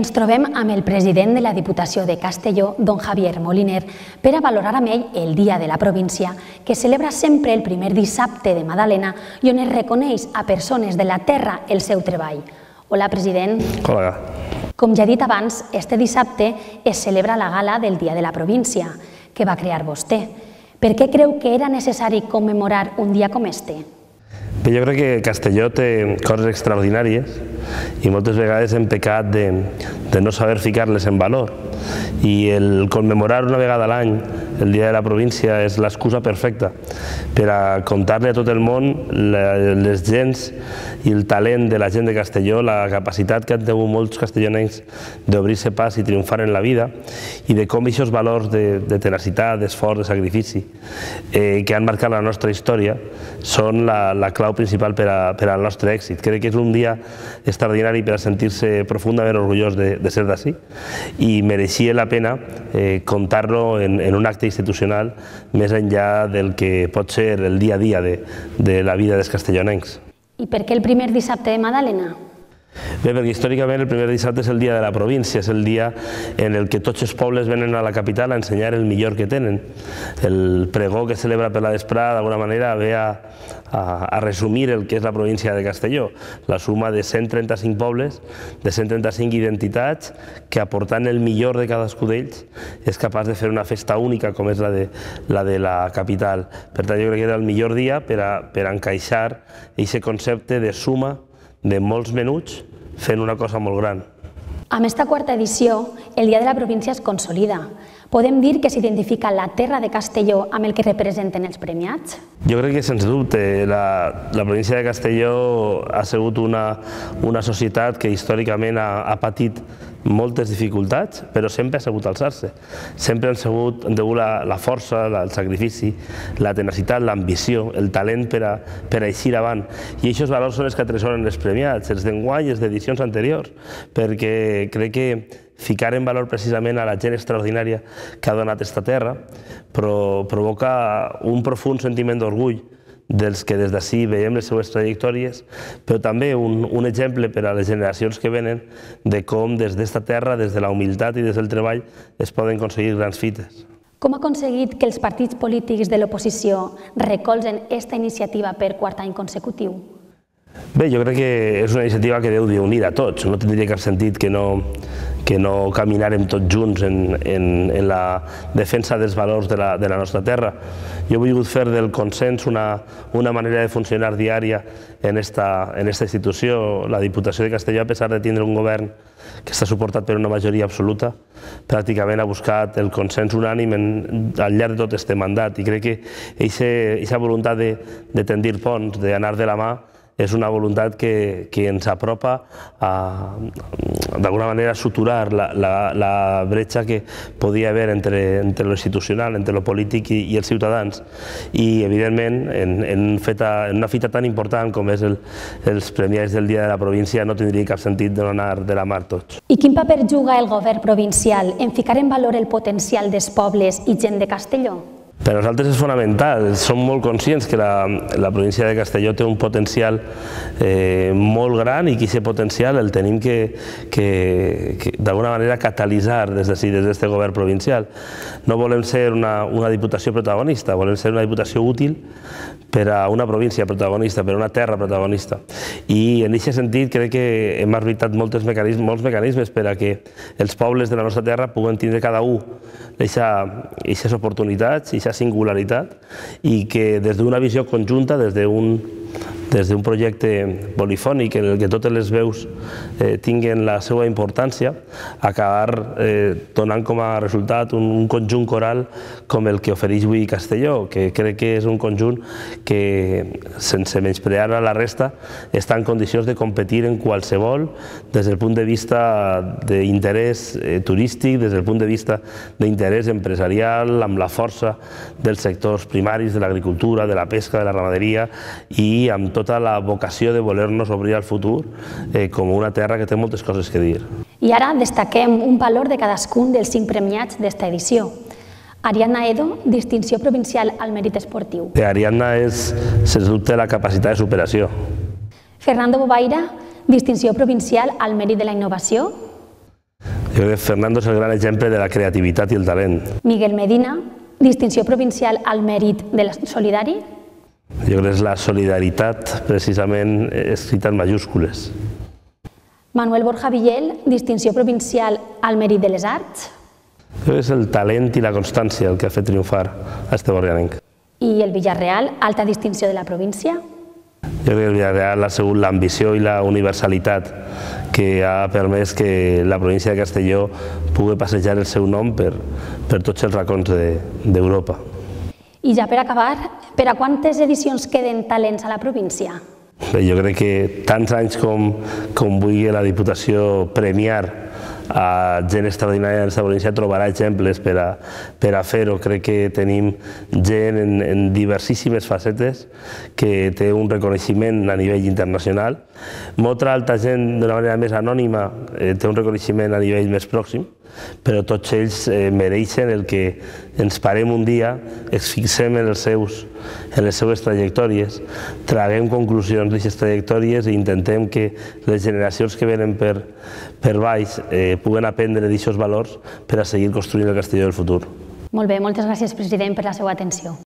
Ens trobem amb el president de la Diputació de Castelló, don Javier Moliner, per a valorar amb ell el Dia de la Província, que celebra sempre el primer dissabte de Madalena i on es reconeix a persones de la terra el seu treball. Hola, president. Hola. Com ja he dit abans, este dissabte es celebra la gala del Dia de la Província, que va crear vostè. Per què creu que era necessari commemorar un dia com este? Bé, jo crec que Castelló té coses extraordinàries i moltes vegades hem pecat de no saber ficar-les en valor. I el commemorar una vegada a l'any el Dia de la Província és l'excusa perfecta per a contar-li a tot el món les gents i el talent de la gent de Castelló, la capacitat que han tingut molts castellonencs d'obrir-se pas i triomfar en la vida i de com aquests valors de tenacitat, d'esforç, de sacrifici que han marcat la nostra història són la clau principal per al nostre èxit. Crec que és un dia extraordinari per a sentir-se profundament orgullós de ser d'ací i mereixia la pena contar-lo en un acte institucional més enllà del que pot ser el dia a dia de la vida dels castellonencs. I per què el primer dissabte de Madalena? Bé, perquè històricament el primer dissabte és el dia de la província, és el dia en el que tots els pobles venen a la capital a ensenyar el millor que tenen. El pregó que celebra per la vesprada, d'alguna manera, ve a resumir el que és la província de Castelló, la suma de 135 pobles, de 135 identitats, que aportant el millor de cadascú d'ells és capaç de fer una festa única com és la de la capital. Per tant, jo crec que era el millor dia per a encaixar aquest concepte de suma de molts menuts fent una cosa molt gran. Amb esta quarta edició, el Dia de la Província es consolida. Podem dir que s'identifica la terra de Castelló amb el que representen els premiats? Jo crec que, sens dubte, la província de Castelló ha sigut una societat que històricament ha patit moltes dificultats, però sempre ha sabut alçar-se. Sempre han sabut la força, el sacrifici, la tenacitat, l'ambició, el talent per a eixir avant. I aquests valors són els que atresoren els premiats, els d'enguany i els d'edicions anteriors, perquè crec que ficar en valor precisament a la gent extraordinària que ha donat aquesta terra provoca un profund sentiment d'orgull dels que des d'ací veiem les seues trajectòries, però també un exemple per a les generacions que venen de com des d'esta terra, des de la humilitat i des del treball, es poden aconseguir grans fites. Com ha aconseguit que els partits polítics de l'oposició recolzen aquesta iniciativa per quart any consecutiu? Bé, jo crec que és una iniciativa que deu d'unir a tots. No tindria cap sentit que no caminarem tots junts en la defensa dels valors de la nostra terra. Jo he volgut fer del consens una manera de funcionar diària en esta institució. La Diputació de Castelló, a pesar de tindre un govern que està suportat per una majoria absoluta, pràcticament ha buscat el consens unànim al llarg de tot aquest mandat. I crec que aquesta voluntat de tendir ponts, d'anar de la mà, és una voluntat que ens apropa a, d'alguna manera, suturar la bretxa que podia haver entre lo institucional, entre lo polític i els ciutadans. I, evidentment, en una fita tan important com és els premiats del Dia de la Província, no tindria cap sentit de no anar de la mà tots. I quin paper juga el govern provincial en ficar en valor el potencial dels pobles i gent de Castelló? Per a nosaltres és fonamental. Som molt conscients que la província de Castelló té un potencial molt gran i que aquest potencial el tenim que d'alguna manera catalitzar des d'ací, des d'aquest govern provincial. No volem ser una diputació protagonista, volem ser una diputació útil per a una província protagonista, per a una terra protagonista. I en aquest sentit crec que hem arbitrat molts mecanismes per a que els pobles de la nostra terra puguen tindre cada un aquestes oportunitats, aquesta singularitat, i que des d'una visió conjunta, des d'un projecte polifònic en què totes les veus tinguen la seva importància, acabar donant com a resultat un conjunt coral com el que ofereix avui Castelló, que crec que és un conjunt que, sense menysprear a la resta, està en condicions de competir en qualsevol, des del punt de vista d'interès turístic, des del punt de vista d'interès empresarial, amb la força dels sectors primaris, de l'agricultura, de la pesca, de la ramaderia, i amb tota la vocació de voler-nos obrir al futur com una terra que té moltes coses que dir. I ara destaquem un valor de cadascun dels 5 premiats d'esta edició. Ariadna Edo, distinció provincial al mèrit esportiu. Ariadna és, sens dubte, la capacitat de superació. Fernando Bobaira, distinció provincial al mèrit de la innovació. Crec que Fernando és el gran exemple de la creativitat i el talent. Miguel Medina, distinció provincial al mèrit de la Solidari. Jo crec que és la solidaritat, precisament, escrita en majúscules. Manuel Borja Villel, distinció provincial al mèrit de les arts. Crec que és el talent i la constància el que ha fet triomfar a este borrianenc. I el Villarreal, alta distinció de la província. Jo crec que el Villarreal ha sigut l'ambició i la universalitat que ha permès que la província de Castelló pugui passejar el seu nom per tots els racons d'Europa. I ja per acabar, per a quantes edicions queden talents a la província? Bé, jo crec que tants anys com vulgui la Diputació premiar a gent extraordinària de la província trobarà exemples per a fer-ho. Crec que tenim gent en diversíssimes facetes que té un reconeixement a nivell internacional. Molta altra gent, d'una manera més anònima, té un reconeixement a nivell més pròxim, però tots ells mereixen el que ens parem un dia, ens fixem en les seues trajectòries, traguem conclusions d'aquestes trajectòries i intentem que les generacions que venen per baix puguen aprendre d'aquests valors per a seguir construint el Castelló del futur. Molt bé, moltes gràcies, president, per la seva atenció.